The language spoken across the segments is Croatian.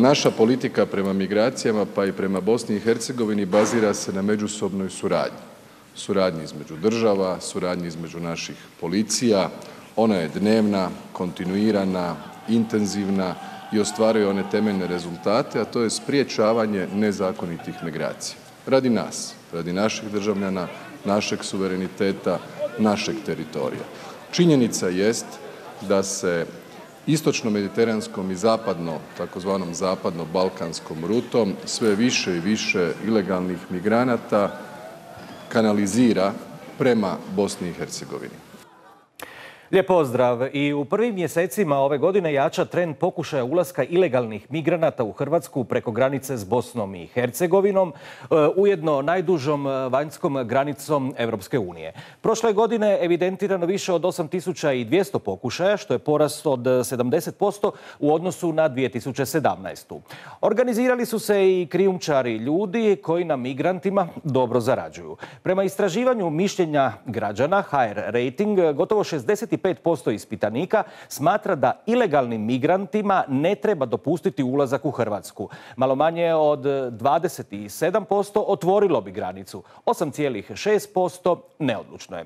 Naša politika prema migracijama pa i prema Bosni i Hercegovini bazira se na međusobnoj suradnji. Suradnji između država, suradnji između naših policija. Ona je dnevna, kontinuirana, intenzivna i ostvaruje one temeljne rezultate, a to je sprječavanje nezakonitih migracija. Radi nas, radi naših državljana, našeg suvereniteta, našeg teritorija. Činjenica jest da se istočno-mediteranskom i zapadno, takozvanom zapadno-balkanskom rutom sve više i više ilegalnih migranata kanalizira prema Bosni i Hercegovini. Lijep pozdrav. I u prvim mjesecima ove godine jača trend pokušaja ulaska ilegalnih migranata u Hrvatsku preko granice s Bosnom i Hercegovinom, ujedno najdužom vanjskom granicom Europske unije. Prošle godine evidentirano više od 8200 pokušaja, što je porast od 70% u odnosu na 2017. Organizirali su se i krijumčari ljudi koji na migrantima dobro zarađuju. Prema istraživanju mišljenja građana HR Rating, gotovo 65% ispitanika smatra da ilegalnim migrantima ne treba dopustiti ulazak u Hrvatsku. Malo manje od 27% otvorilo bi granicu. 8,6% neodlučno je.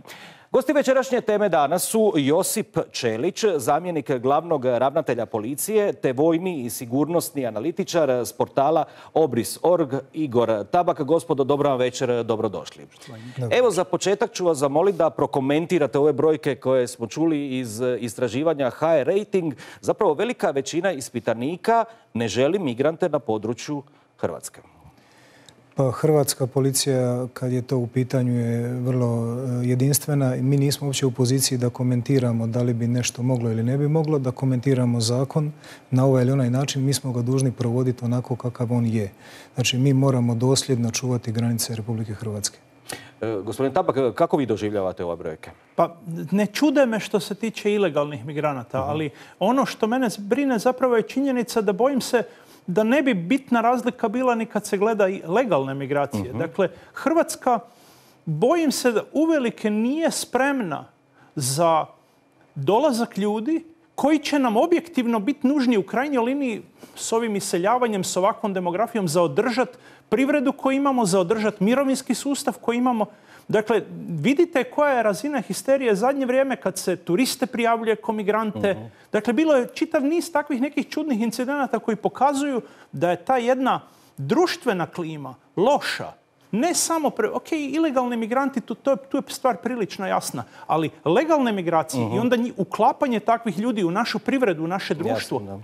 Gosti večerašnje teme danas su Josip Ćelić, zamjenik glavnog ravnatelja policije, te vojni i sigurnosni analitičar s portala Obris.org, Igor Tabak. Gospodo, dobro vam večer, dobrodošli. Evo, za početak ću vas zamoliti da prokomentirate ove brojke koje smo čuli iz istraživanja HR Rating. Zapravo velika većina ispitanika ne želi migrante na području Hrvatske. Pa hrvatska policija, kad je to u pitanju, je vrlo jedinstvena. Mi nismo uopće u poziciji da komentiramo da li bi nešto moglo ili ne bi moglo, da komentiramo zakon na ovaj ili onaj način. Mi smo ga dužni provoditi onako kakav on je. Znači, mi moramo dosljedno čuvati granice Republike Hrvatske. Gospodin Tabak, kako vi doživljavate ove brojke? Pa ne čude me što se tiče ilegalnih migranata, ali ono što mene brine zapravo je činjenica da bojim se da ne bi bitna razlika bila ni kad se gleda i legalne migracije. Dakle, Hrvatska, bojim se da uvelike nije spremna za dolazak ljudi koji će nam objektivno biti nužni u krajnjoj liniji s ovim iseljavanjem, s ovakvom demografijom, za održati privredu koju imamo, za održati mirovinski sustav koji imamo. Dakle, vidite koja je razina histerije zadnje vrijeme kad se turiste prijavljuje ko migrante. Dakle, bilo je čitav niz takvih nekih čudnih incidenata koji pokazuju da je ta jedna društvena klima loša. Ne samo, ilegalni migranti, tu je stvar prilično jasna, ali legalne migracije i onda uklapanje takvih ljudi u našu privredu, u naše društvo.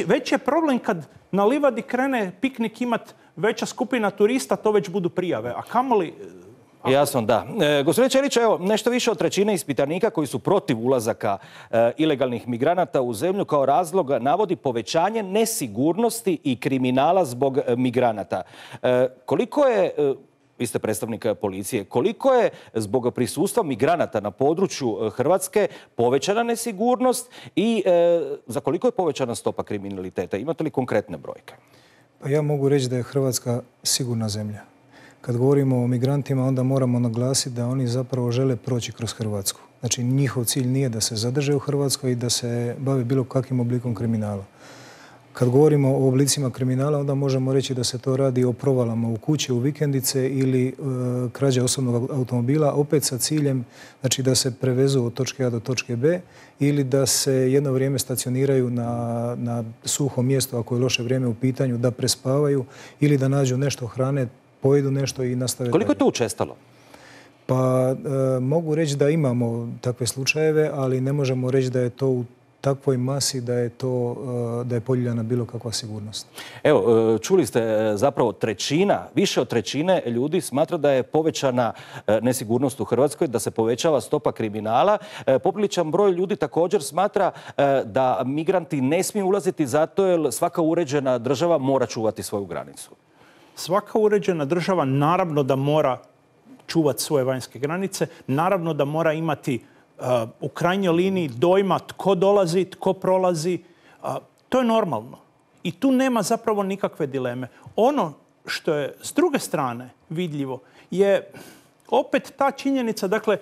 Već je problem kad na livadi krene piknik imat veća skupina turista, to već budu prijave. A kamoli... Jasno, da. Gospodine Ćelić, evo, nešto više od trećine ispitanika koji su protiv ulazaka ilegalnih migranata u zemlju kao razlog navodi povećanje nesigurnosti i kriminala zbog migranata. Koliko je, vi ste predstavnik policije, koliko je zbog prisustva migranata na području Hrvatske povećana nesigurnost i za koliko je povećana stopa kriminaliteta? Imate li konkretne brojke? Pa ja mogu reći da je Hrvatska sigurna zemlja. Kad govorimo o migrantima, onda moramo naglasiti da oni zapravo žele proći kroz Hrvatsku. Znači, njihov cilj nije da se zadrže u Hrvatskoj i da se bave bilo kakvim oblikom kriminala. Kad govorimo o oblicima kriminala, onda možemo reći da se to radi o provalama u kuće, u vikendice ili krađe osobnog automobila, opet sa ciljem, znači, da se prevezu od točke A do točke B ili da se jedno vrijeme stacioniraju na suhom mjestu ako je loše vrijeme u pitanju, da prespavaju ili da nađu nešto hrane, pojedu nešto i nastave. Koliko je to učestalo? Pa mogu reći da imamo takve slučajeve, ali ne možemo reći da je to u takvoj masi da je podijeljena bilo kakva sigurnost. Evo, čuli ste zapravo više od trećine ljudi smatra da je povećana nesigurnost u Hrvatskoj, da se povećava stopa kriminala. Popriličan broj ljudi također smatra da migranti ne smiju ulaziti zato jer svaka uređena država mora čuvati svoju granicu. Svaka uređena država naravno da mora čuvati svoje vanjske granice, naravno da mora imati u krajnjoj liniji dojma tko dolazi, tko prolazi. To je normalno. I tu nema zapravo nikakve dileme. Ono što je s druge strane vidljivo je opet ta činjenica, dakle,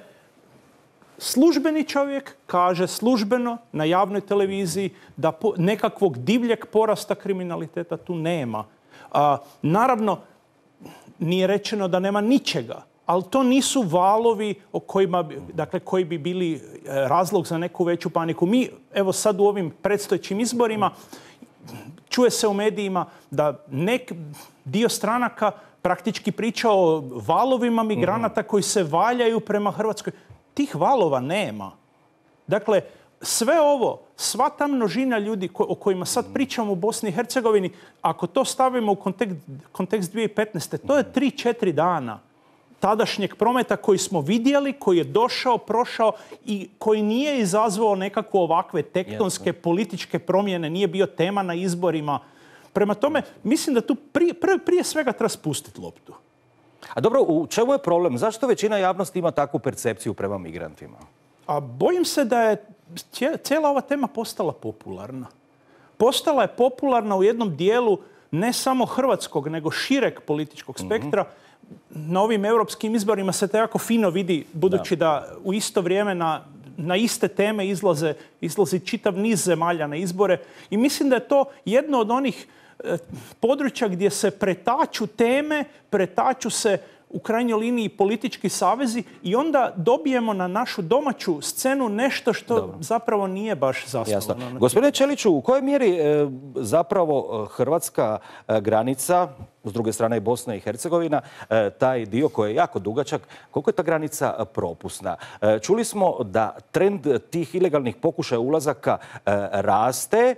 službeni čovjek kaže službeno na javnoj televiziji da nekakvog divljeg porasta kriminaliteta tu nema. Naravno, nije rečeno da nema ničega, ali to nisu valovi koji bi bili razlog za neku veću paniku. Mi, evo sad u ovim predstojećim izborima, čuje se u medijima da dio stranaka praktički priča o valovima migranata koji se valjaju prema Hrvatskoj. Tih valova nema. Dakle, sve ovo, sva ta množina ljudi o kojima sad pričamo u Bosni i Hercegovini, ako to stavimo u kontekst 2015. to je 3-4 dana tadašnjeg prometa koji smo vidjeli, koji je došao, prošao i koji nije izazvao nekakve ovakve tektonske političke promjene, nije bio tema na izborima. Prema tome, mislim da tu prije svega treba spustiti loptu. A dobro, u čemu je problem? Zašto većina javnosti ima takvu percepciju prema migrantima? A bojim se da je cijela ova tema postala popularna. Postala je popularna u jednom dijelu ne samo hrvatskog, nego šireg političkog spektra. Na ovim europskim izborima se to jako fino vidi, budući da u isto vrijeme na iste teme izlazi čitav niz zemalja na izbore. I mislim da je to jedno od onih područja gdje se pretaču teme, pretaču se u krajnjoj liniji politički savezi i onda dobijemo na našu domaću scenu nešto što zapravo nije baš zasnovano. Gospodine Ćeliću, u kojoj mjeri zapravo hrvatska granica, s druge strane i Bosna i Hercegovina, taj dio koji je jako dugačak, koliko je ta granica propusna? Čuli smo da trend tih ilegalnih pokušaja ulazaka raste.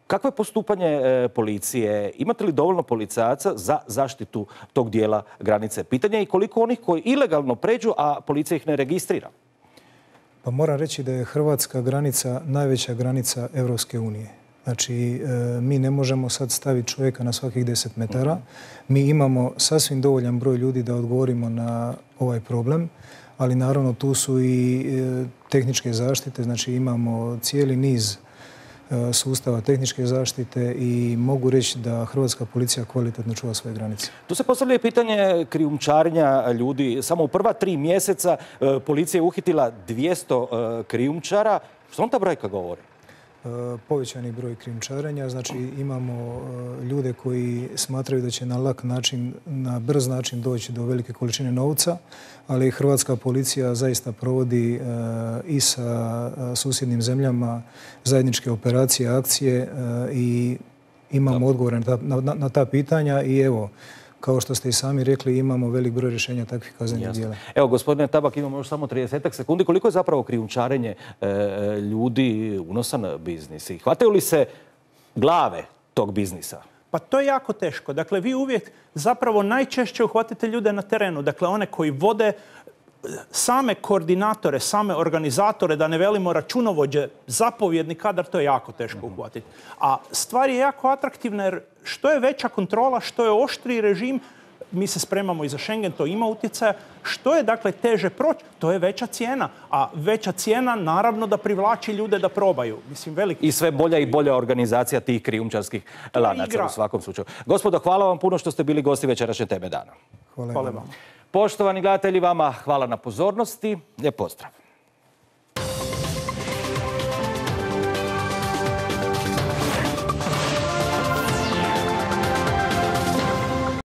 Kakvo je postupanje policije? Imate li dovoljno policajaca za zaštitu tog dijela granice? Pitanje je i koliko onih koji ilegalno pređu, a policija ih ne registrira. Pa moram reći da je hrvatska granica najveća granica Europske unije. Znači, mi ne možemo sad staviti čovjeka na svakih 10 metara. Mi imamo sasvim dovoljan broj ljudi da odgovorimo na ovaj problem, ali naravno tu su i tehničke zaštite. Znači, imamo cijeli niz sustava tehničke zaštite i mogu reći da hrvatska policija kvalitetno čuva svoje granice. Tu se postavlja pitanje krijumčarenja ljudi. Samo u prva 3 mjeseca policija je uhitila 200 krijumčara. Što on ta brojka govori? Povećani broj krijumčarenja, znači imamo ljude koji smatraju da će na lak način, na brz način doći do velike količine novca, ali hrvatska policija zaista provodi i sa susjednim zemljama zajedničke operacije, akcije i imamo odgovore na ta pitanja i evo, kao što ste i sami rekli, imamo velik broj rješenja takvih kaznenih djela. Evo, gospodine Tabak, imamo još samo 30 sekundi. Koliko je zapravo krijumčarenje ljudi unosan biznis? I hvataju li se glave tog biznisa? Pa to je jako teško. Dakle, vi uvijek zapravo najčešće uhvatite ljude na terenu. Dakle, one koji vode same koordinatore, same organizatore, da ne velimo računovođe, zapovjedni kadar, to je jako teško uhvatiti. A stvar je jako atraktivna jer što je veća kontrola, što je oštriji režim, mi se spremamo i za Schengen, to ima utjecaja. Što je dakle teže proći, to je veća cijena. A veća cijena naravno da privlači ljude da probaju. I sve bolja i bolja organizacija tih krijumčarskih lanaca u svakom slučaju. Gospodo, hvala vam puno što ste bili gosti večerašnje Teme dana. Hvala vam. Poštovani gledatelji, vama hvala na pozornosti. Lijep pozdrav.